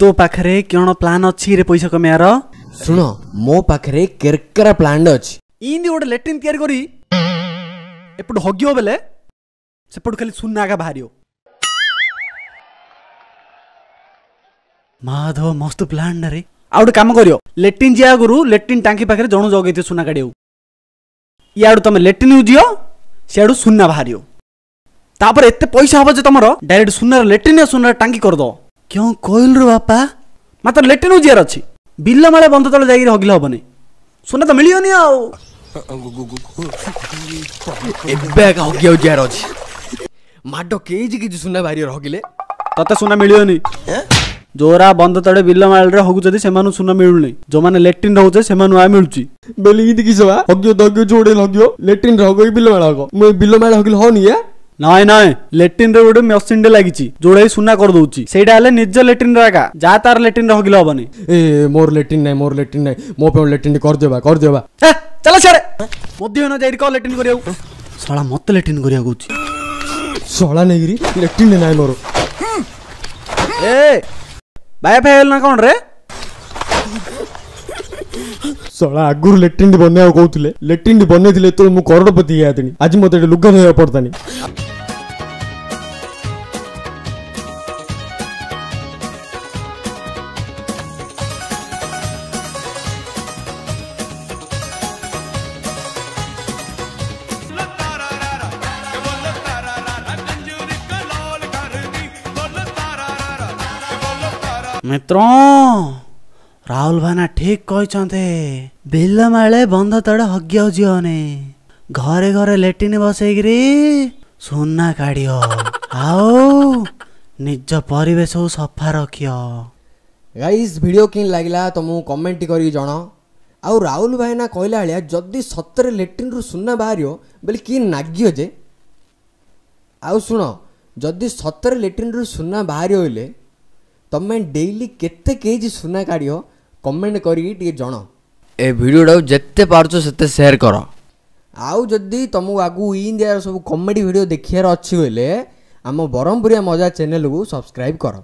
ତୋ ପାଖରେ କ'ଣ ପ୍ଲାନ୍ ଅଛି ରେ ପଇସା କମେଇବାର? ଶୁଣ, ମୋ ପାଖରେ କେରକେରା ପ୍ଲାନ୍ ଅଛି। ଇନ୍ତି ଗୋଟେ ଲେଟ୍ରିନ୍ ତିଆରି କରି ଏପଟୁ ହଗିବ ବେଲେ ସେପଟୁ ଖାଲି ସୁନା ଆଗା ବାହାରିବ। ମାଧବ, ମସ୍ତ ପ୍ଲାନ୍ ରେ। ଆଉ ଗୋଟେ କାମ କରିବ, ଲେଟ୍ରିନ୍ ଯିବା ଆଗରୁ ଲେଟ୍ରିନ୍ ଟାଙ୍କି ପାଖରେ ଜଣୁ ଜଗେଇଥିବ ସୁନା କାଢ଼ିବାକୁ। ଇଆଡ଼ୁ ତମେ ଲେଟ୍ରିନ୍ ଯିବ, ସିଆଡ଼ୁ ସୁନା ବାହାରିବ। ତାପରେ ଏତେ ପଇସା ହବ ଯେ ତମର ଡାଇରେକ୍ଟ ସୁନାର ଲେଟ୍ରିନ୍ ଆଉ ସୁନାର ଟାଙ୍କି କରିଦବ। କେଉଁ କହିଲୁ ରେ ବାପା? ମାତ୍ର ଲେଟ୍ରିନ୍ ଯିବାର ଅଛି, ବିଲ ମାଳେ ବନ୍ଧ ତଳେ ଯାଇକିରି ହଗିଲେ ହବନି, ସୁନା ତ ମିଳିବନି। ଆଉ ଏବେ ଏକା ହଗିବାକୁ ଯିବାର ଅଛି। ମାଡ଼ କେଜି କେଜି ସୁନା ବାହାରିବ ହଗିଲେ। ତତେ ସୁନା ମିଳିବନି। ଯୋରା ବନ୍ଧ ତଳେ ବିଲ ମାଳରେ ହଗୁଛନ୍ତି ସେମାନଙ୍କୁ ସୁନା ମିଳୁନି, ଯୋଉମାନେ ଲେଟ୍ରିନ୍ ରହୁଛନ୍ତି ସେମାନଙ୍କୁ ଆଉ ମିଳୁଛି। ବେଲି ଇନ୍ତି କିସ ବା? ହଗିବ ତ ହଗିବ, ଯୋଉଟେ ହଗିବ, ଲେଟ୍ରିନ୍ ରେ ହଗ କି ବିଲ ମାଳ ହଗ? ମୁଁ ଏ ବିଲ ମାଳ ହଗିଲେ ହଉନି ୟା? ନାଇଁ ନାଇଁ, ଲେଟ୍ରିନ୍ ରେ ଗୋଟେ ମେସିନ୍ ଟେ ଲାଗିଛି ଯୋଉଟା ସୁନା କରିଦଉଛି। ସେଇଟା ହେଲେ ନିଜ ଲେଟ୍ରିନ୍ ରେ ଏକା, ଯା ତାର ଲେଟ୍ରିନ୍ ରେ ହଗିଲେ ହବନି। ଏ ମୋର ଲେଟ୍ରିନ୍ ନାଇଁ, ମୋର ଲେଟ୍ରିନ୍ ନାଇଁ, ମୋ ପାଇଁ ଲେଟ୍ରିନ୍ କରିଦେବା, କରିଦେବା। ଚାଲ ସିଆଡ଼େ, ମଧ୍ୟ ନ ଯାଇକି କହ ଲେଟ୍ରିନ୍ କରିବାକୁ। ଶଳା ମତେ ଲେଟ୍ରିନ୍ କରିବାକୁ କହୁଛି। ଶଳା ନେଇକିରି ଲେଟ୍ରିନ୍ ନାଇଁ ମୋର। ଏ ବାୟା ଫାୟା ହେଲା ନା କ'ଣ ରେ? ଶଳା ଆଗରୁ ଲେଟ୍ରିନ୍ ବନେଇବାକୁ କହୁଥିଲେ, ଲେଟ୍ରିନ୍ ବନେଇଥିଲେ ଏତେବେଳେ ମୁଁ କରୋଡ଼ପତି ହେଇଯାଇଥିଲି। ଆଜି ମତେ ଏଠି ଲୁଗା ଧୋଇବାକୁ ପଡତାନି। ମିତ୍ର, ରାହୁଲ ଭାଇନା ଠିକ କହିଛନ୍ତି, ବିଲମାଳେ ବନ୍ଧ ତଳେ ହଗିବାକୁ ଯିବନି, ଘରେ ଘରେ ଲେଟିନ୍ ବସେଇକିରି ସୁନା କାଢିବ ଆଉ ନିଜ ପରିବେଶକୁ ସଫା ରଖିବ। ଗାଇସ୍, ଭିଡ଼ିଓ କେମିତି ଲାଗିଲା ତମକୁ କମେଣ୍ଟ କରିକି ଜଣାଅ। ଆଉ ରାହୁଲ ଭାଇନା କହିଲା ଭଳିଆ ଯଦି ସତରେ ଲେଟ୍ରିନ୍ରୁ ସୁନା ବାହାରିବ ବୋଲେ କି ନାଗିବ ଯେ। ଆଉ ଶୁଣ, ଯଦି ସତରେ ଲେଟ୍ରିନ୍ରୁ ସୁନା ବାହାରିବ ବୋଇଲେ ତମେ ଡେଇଲି କେତେ କେଜି ସୁନା କାଢ଼ିବ, କମେଣ୍ଟ କରିକି ଟିକେ ଜଣାଅ। ଏ ଭିଡ଼ିଓଟାକୁ ଯେତେ ପାରୁଛ ସେତେ ସେୟାର କର। ଆଉ ଯଦି ତମକୁ ଆଗକୁ ଇଣ୍ଡିଆର ସବୁ କମେଡ଼ି ଭିଡ଼ିଓ ଦେଖିବାର ଅଛି ବୋଇଲେ ଆମ ବ୍ରହ୍ମପୁରିଆ ମଜା ଚ୍ୟାନେଲକୁ ସବସ୍କ୍ରାଇବ୍ କର।